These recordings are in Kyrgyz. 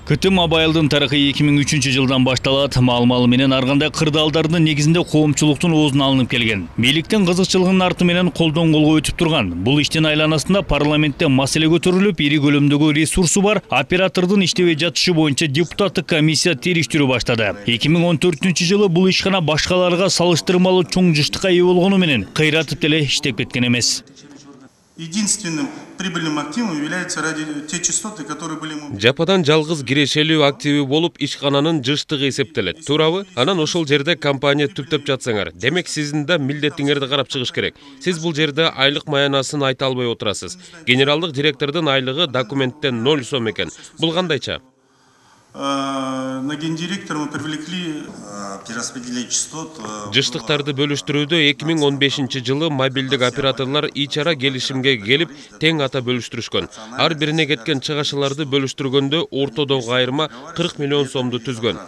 КТ Мобайлдын тарыхы 2003-жылдан башталат. Маал-малы менен арганда кырдаалдардын негизинде коомчулуктун оозуна алынып келген. Бийликтин кызыкчылыгынын арты менен колдон колго өтүп турган. Бул иштин айланасында парламентте маселе көтөрүлүп, ири көлөмдөгү ресурсу бар оператордун иштебей жатышы боюнча депутаттык комиссия териштирүү баштады. 2014-жылы бул ишкана башкаларга салыштырмалуу чоң жыштыкка ээ болгону менен кыйратып деле иштеп кеткен эмес. Единственным прибыльным активом являются те частоты, которые были... Жападан жалгыз кирешелүү активи болуп ишкананын жыштыгы эсептелет. Туурабы? Анан ошол жерде компания түптөп жатсаңар, демек сиздин да милдетиңерди карап чыгыш керек. Сиз бул жерде айлык маянасын айта албай отурасыз. Генералдык директордун айлыгы документтен 0 сом экен. Бул кандайча? На гендиректора мы привлекли перераспределение частот. Жыштыктарды бөлүштүрүүдө 2015-жылы мобилдик операторлор ичара келишимге келип, тең ата бөлүштүрүшкөн. Ар бирине кеткен чыгашыларды бөлүштүргөндө ортодогу айырма 40 миллион сомду түзгөн.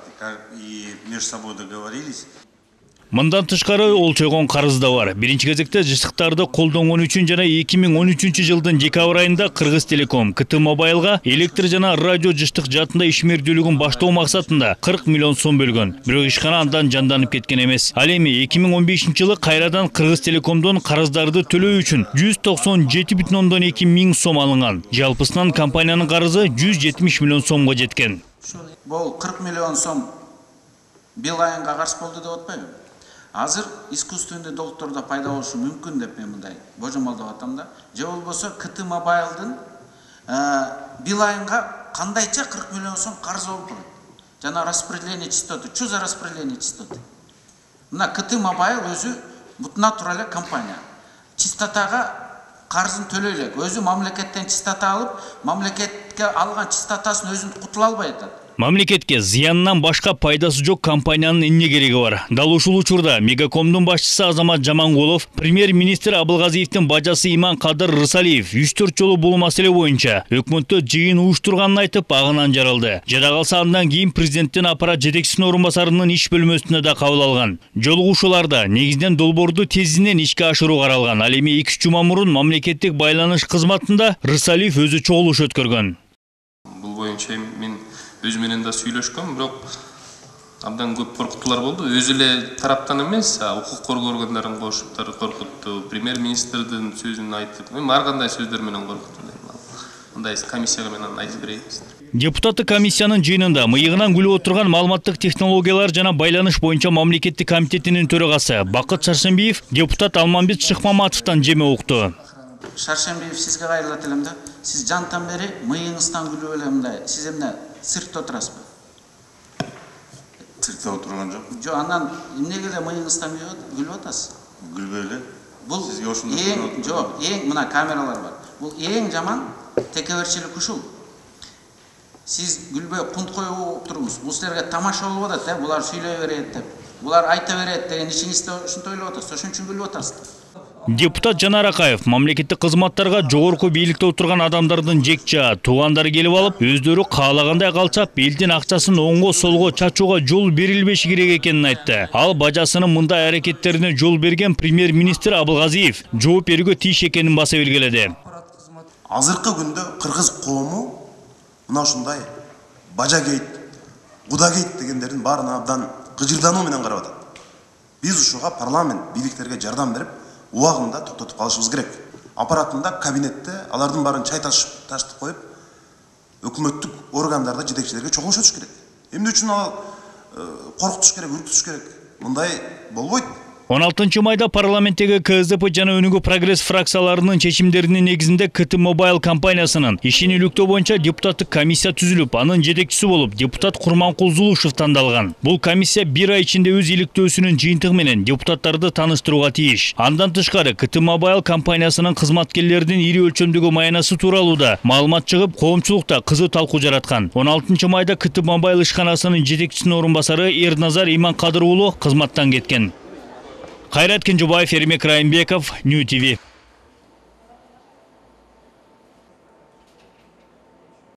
Мындан тышкары олчойгон карыз да бар. Биринчи кезекте жыштыктарды колдонгон үчүн жана 2013-жылдын декабрь айында Кыргыз Телеком КТ Мобайлга электр жана радио жыштык жаатында ишмердүүлүгүн баштоо максатында 40 миллион сом бөлгөн. Бирок ишкана андан жанданып кеткен эмес. Ал эми 2015-жылы кайрадан Кыргыз Телекомдон карыздарды төлөө үчүн 197,2 миң сом алынган. Жалпысынан компаниянын карызы 170 миллион сомго жеткен. Бул 40 миллион сом бил айынга каршы болду деп атпайбы? Азыр искусственный долгтордо пайда болушу мүмкүн деп мен мындай божомолдоп атам да. Же болбосо КТ Мобайлдын бил айынга кандайча 40 миллион сом карыз болуп калат. Жана распределение частоты, что за распределение частоты? Мына КТ Мобайл өзү бутуна тура эле компания. Частотага карызын төлөй элек. Өзү мамлекеттен частота алып, мамлекетке алган частотасын өзүн кутула албай атат. Мамлекетке зыянынан башка пайдасы жок компаниянын эмне кереги бар? Дал ушул учурда Мегакомдун башчысы Азамат Жамангулов, премьер-министр Абылгазиевдин бажасы Иманкадыр Рысалиев 3-4 жолу бул маселе боюнча өкмөттө жыйын уюштурганын айтып, агынан жаралды. Жада калса андан кийин президенттин аппарат жетекчисинин орун басарынын иш бөлмөсүнө да кабыл алган. Жолугушууларда негизинен долбоорду тезинен ишке ашыруу каралган. Ал эми 2 жума мурун мамлекеттик байланыш кызматында Рысалиев өзү чогулуш өткөргөн. Бул боюнча мен өз менен да сүйлөшкөм, бирок абдан көп коркутуулар болду. Өзү эле тараптан эмес, укук коргоо органдарын кошуп коркутту, премьер-министрдин сөзүн айтып, ар кандай сөздөр менен коркутту. Мындай комиссияга мен айтып берейин. Депутаттык комиссиянын жыйынында мыйыгынан күлүп отурган маалыматтык технологиялар жана байланыш боюнча мамлекеттик комитетинин төрагасы Бакыт Шаршембиев депутат Алмамбет Шыкмаматовдон жеме укту. Шаршембиев, сизге кайрылат элем да. Сиз жантан бери мыйыңыздан күлүп эле мындай. Сиз эмне циркте отурасызбы? Циркте отурган жок. Жок, анан эмнеге эле мыйыңыздан күлүп атасыз? Күлбөй эле. Бул эң мына камералар бар. Бул эң жаман текеберчилик ушул. Сиз күлбөй кунт коюп туруңуз. Бул силерге тамаша болуп атат, булар сүйлөй берет деп. Булар айта берет деген ишиңизде ушинтип ойлоп атасыз. Ошон үчүн күлүп атасыздар. Депутат Жанар Акаев мамлекеттик кызматтарга жогорку бийликте отурган адамдардын жекча туугандары келип алып, өздөрү каалагандай калчап, элдин акчасын оңго солго чачууга жол берилбеши керек экенин айтты. Ал бажасынын мындай аракеттерине жол берген премьер-министр Абылгазиев жооп берүүгө тийиш экенин баса белгиледи. Азыркы күндө кыргыз коому мына ушундай бажа кейт, куда кейт дегендердин баарына абдан кыжырдануу менен карап атат. Биз ушуга парламент бийликтерге жардам берип, убагында токтотуп калышыбыз керек. Аппаратында, кабинетте алардын баарын чай ташытып коюп, өкмөттүк органдарда жетекчилерге чогулуш өтүш керек. Эмне үчүн ал коркутуш керек, үркүтүш керек? Мындай болбойт. 16 майда парламенттеги КСДП жана Өнүгүү прогресс фракцияларынын чечимдеринин негизинде КТ Мобайл компаниясынын ишин илүктөө боюнча депутаттык комиссия түзүлүп, анын жетекчиси болуп депутат Курманкул Зулушев тандалган. Бул комиссия 1 ай ичинде өз иликтөөсүнүн жыйынтыгы менен депутаттарды тааныштырууга тийиш. Андан тышкары КТ Мобайл компаниясынын кызматкерлеринин ири өлчөмдөгү маянасы тууралуу да маалымат чыгып, коомчулукта кызуу талкуу жараткан. 16 майда КТ Мобайл ишканасынын жетекчисинин орун басары Эрназар Иманкадыр уулу кызматтан кеткен. Кайрат Кенжебаев, Эрмек Райымбеков, Нью ТВ.